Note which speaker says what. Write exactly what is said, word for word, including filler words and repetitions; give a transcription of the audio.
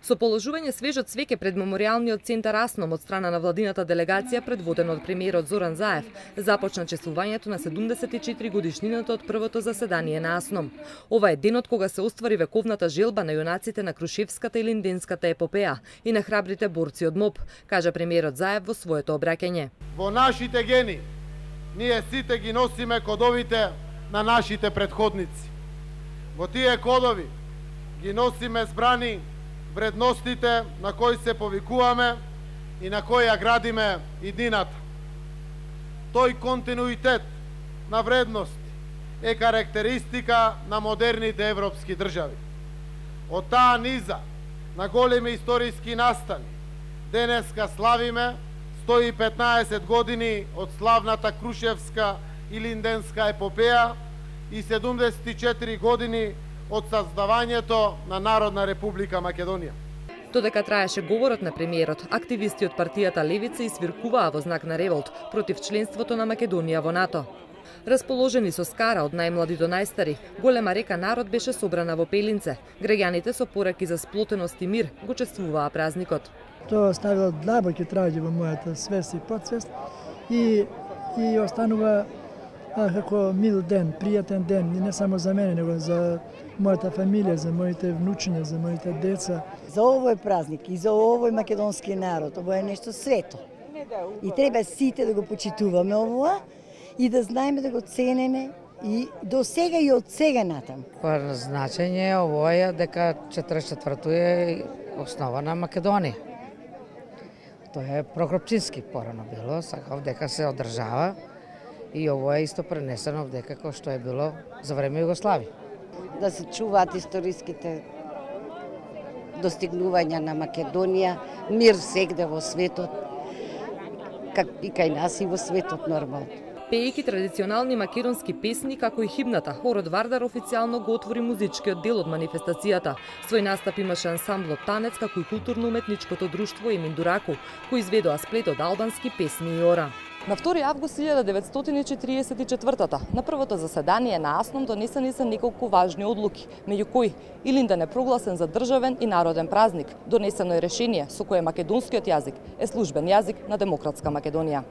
Speaker 1: Со положување свежо цвеќе пред меморијалниот центар Асном од страна на владината делегација предводена од премиерот Зоран Заев, започна чествувањето на седумдесет и четири годишнината од првото заседание на Асном. Ова е денот кога се оствари вековната желба на јунаците на Крушевската и Линденската епопеја и на храбрите борци од МОБ, кажа премиерот Заев во своето обраќање.
Speaker 2: Во нашите гени ние сите ги носиме кодовите на нашите предходници. Во тие кодови ги носиме збрани вредностите на кои се повикуваме и на кои ја градиме иднината. Тој континуитет на вредности е карактеристика на модерните европски држави. Од таа низа на големи историски настани денеска славиме сто и петнаесет години од славната Крушевска и Линденска епопеја и седумдесет и четири години од создавањето на Народна република Македонија.
Speaker 1: Додека траеше говорот на премиерот, активисти од партијата Левица извиркуваа во знак на револт против членството на Македонија во НАТО. Расположени со скара од најмлади до најстари, голема река народ беше собрана во Пелинце. Граѓаните со пораки за сплотеност и мир го чествуваа празникот.
Speaker 3: Тоа оставило длабоки траги во мојата свест и подсвест и и останува а, како мил ден, пријатен ден, не само за мене, него за мојата фамилија, за моите внучиња, за моите деца.
Speaker 4: За овој празник и за овој македонски народ, ово е нешто свето. И треба сите да го почитуваме ова и да знаеме да го ценеме и до сега и од сега натам.
Speaker 5: По значење ово е дека четиридесет и четврто е основа на Македонија. Тоа е Прокопчински порано било, сакав дека се одржава и ово е исто пренесено дека кој што е било за време Југославија.
Speaker 6: Да се чуваат историските достигнувања на Македонија, мир сегде во светот, как и кај нас и во светот нормално.
Speaker 1: Пеејќи традиционални македонски песни, како и химната, хорот Вардар официјално го отвори музичкиот дел од манифестацијата. Свој настап имаше ансамблот Танец, како и културно-уметничкото друштво Емин Дураку, кои изведоа сплет од албански песни и ора. На втори август илјада деветстотини четириесет и четвртата, на првото заседание на Асном донесени се неколку важни одлуки, меѓу кои Илинден е прогласен за државен и народен празник. Донесено е решение со кое македонскиот јазик е службен јазик на демократска Македонија.